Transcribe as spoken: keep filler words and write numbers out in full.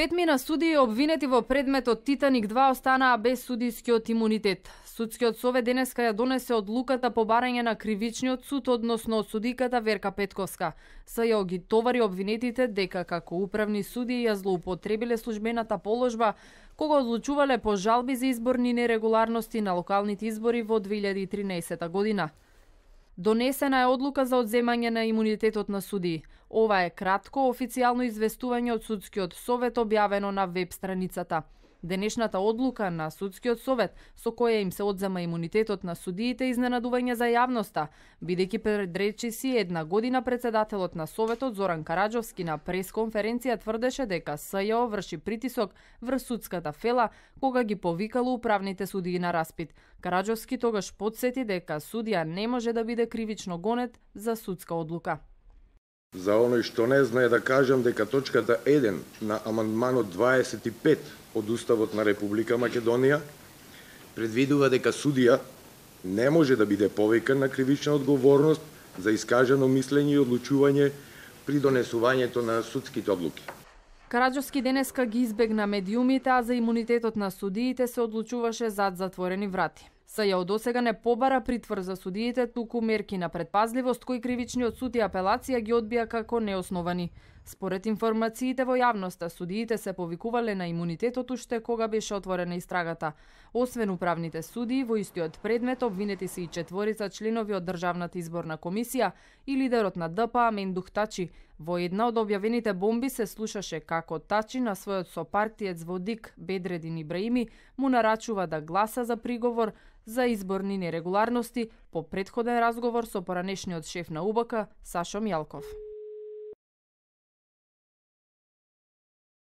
Петмина судии обвинети во предметот Титаник два останаа без судискиот имунитет. Судскиот совет денеска ја донесе одлуката по барање на кривичниот суд односно судиката Верка Петковска. СЈО ги товари обвинетите дека како управни судии ја злоупотребиле службената положба кога одлучувале по жалби за изборни нерегуларности на локалните избори во две илјади и тринаесета година. Донесена е одлука за одземање на имунитетот на судии. Ова е кратко официјално известување од Судскиот совет објавено на веб страницата. Денешната одлука на Судскиот совет со која им се одзема имунитетот на судиите изненадување за јавноста, бидејќи пред речиси една година председателот на Советот Зоран Караџовски на пресконференција тврдеше дека СЈО врши притисок врз судската фела кога ги повикало управните судии на распит. Караџовски тогаш потсети дека судија не може да биде кривично гонет за судска одлука. За оној што не знае да кажам дека точката еден на амандманот дваесет и пет од Уставот на Република Македонија предвидува дека судија не може да биде повикан на кривична одговорност за искажано мислење и одлучување при донесувањето на судските одлуки. Караџовски денеска ги избегна медиумите, а за имунитетот на судиите се одлучуваше зад затворени врати. СЈО досега не побара притвор за судиите, туку мерки на предпазливост кои кривичниот суд и апелација ги одбија како неосновани. Според информациите во јавноста, судиите се повикувале на имунитетот уште кога беше отворена истрагата. Освен управните судии, во истиот предмет обвинети се и четворица членови од Државната изборна комисија и лидерот на Д П А Мендух Тачи. Во една од објавените бомби се слушаше како Тачи на својот сопартиец во ДИК Бедредин Ибраими му нарачува да гласа за приговор за изборни нерегуларности по претходен разговор со поранешниот шеф на У Б К Сашо Мјалков.